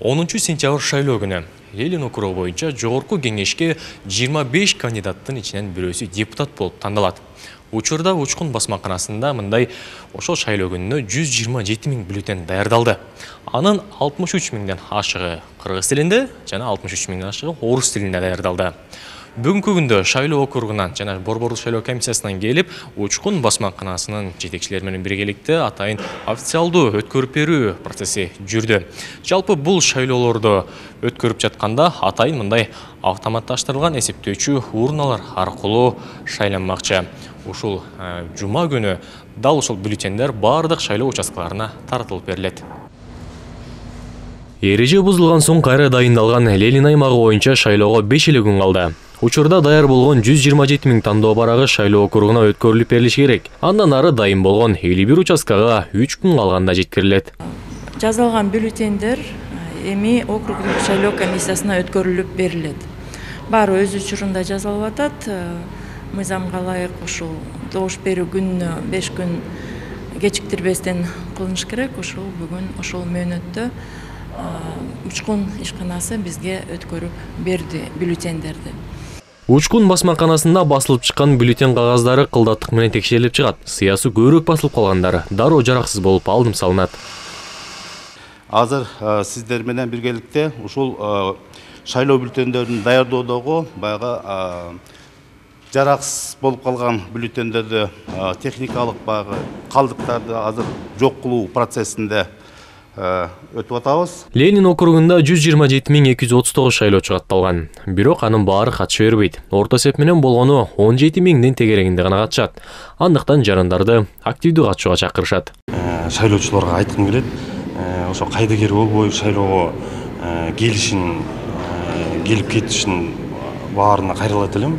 10-сентябрь шайлоо күнү Ленин округу боюнча жогорку кеңешке 25 кандидаттын ичинен бирөөсү депутат болуп тандалат. Учурда Учкун басмаканасында мындай ошол шайлоо күнүнө 127 000 бюллетень даярдалды. Анын 63 000ден ашыгы кыргыз тилинде жана 63 000ден ашыгы орус тилинде даярдалды. Бүгүнкү күндө шайлоо округунан жана борбордук шайлоо комиссиясынан келип, Учкун басмаканасынын жетекчилери менен биргеликте атайын официалдуу өткөрүп берүү процесси жүрдү. Жалпы бул шайлоолорду өткөрүп жатканда атайын мындай автоматташтырылган эсептөөчү урналар аркылуу шайланмакчы. Ушул жума күнү дал ушул бюллетендер бардык шайлоо участкаларына таратылып берилет. Эреже бузулган соң кайра дайындалган Ленин аймагы боюнча шайлоого 5 эле күн калды. Учурда даяр болгон 127 000 тандоо барагы шайлоо округуна өткөрүлүп берилиши керек. Андан ары дайын болгон 51 участкага 3 күн калганда жеткирилет. Жазылган бюллетендер эми округдук шайлоо комиссиясына өткөрүлүп берилет. Баары өз учурунда жазылып атат. Мыйзамга ылайык ушул добуш берүү күнүнө 5 күн кечиктирбестен кылыныш керек. Ушул бүгүн ошол мөөнөттө Учкун ишканасы бизге өткөрүп берди бюллетендерди. Учкун басмаканасында басылып чыккан бюллетень кагаздары кылдаттык менен текшерилип чыгат. Сыясы көбүрөөк басылып калгандары дароо жараксыз болуп алдым салынат. Азыр сиздер менен биргеликте ушул шайлоо бюллетендерин даярдоодогу баягы жараксыз болуп калган бюллетендерди техникалык баягы калдыктарды азыр жок кылуу процессинде өтүп атабыз. Ленин округунда 127 239 шайлоочу катталган. Бирок анын баары катыша бербейт. Орто эсеп менен болгону 17 000дин тегерегинде гана катышат. Андыктан жарандарды активдүү катышууга чакырышат. Шайлоочуларга айткым келет, ошо кайдыгер болбой шайлоого келишин, келип кетишин баарына кайрылат элем.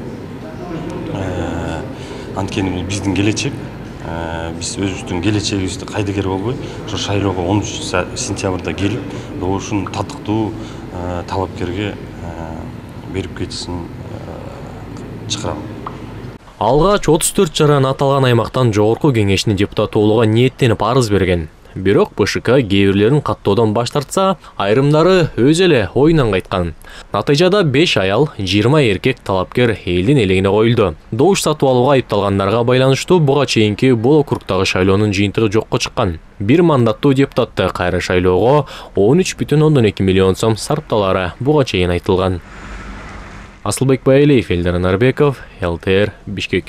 Анткени бул биздин келечек. Биз өзүбүздүн келечегибизди кайдыгер болбой, ошо шайлоого 10 сентябрда келип, ушун татыктуу талапкерге берип кетишин чакырам. Алгач 34 жаран аталган аймактан жогорку кеңештин депутаты болууга ниеттенип арыз берген. Бирок БШК кээ бирлерин каттоодон баш тартса, айрымдары өз эле оюнан кайткан. Натыйжада 5 аял, 20 эркек талапкер элдин элегине коюлду. Добуш сатып алууга айыпталгандарга байланыштуу буга чейинки бул округдагы шайлоонун жыйынтыгы жокко чыккан. Бир мандаттуу депутатты кайра шайлоого 13,2 миллион сом сарпталары буга чейин айтылган. Асылбек Байлеев, Элдар Нарбеков, ЛТР, Бишкек.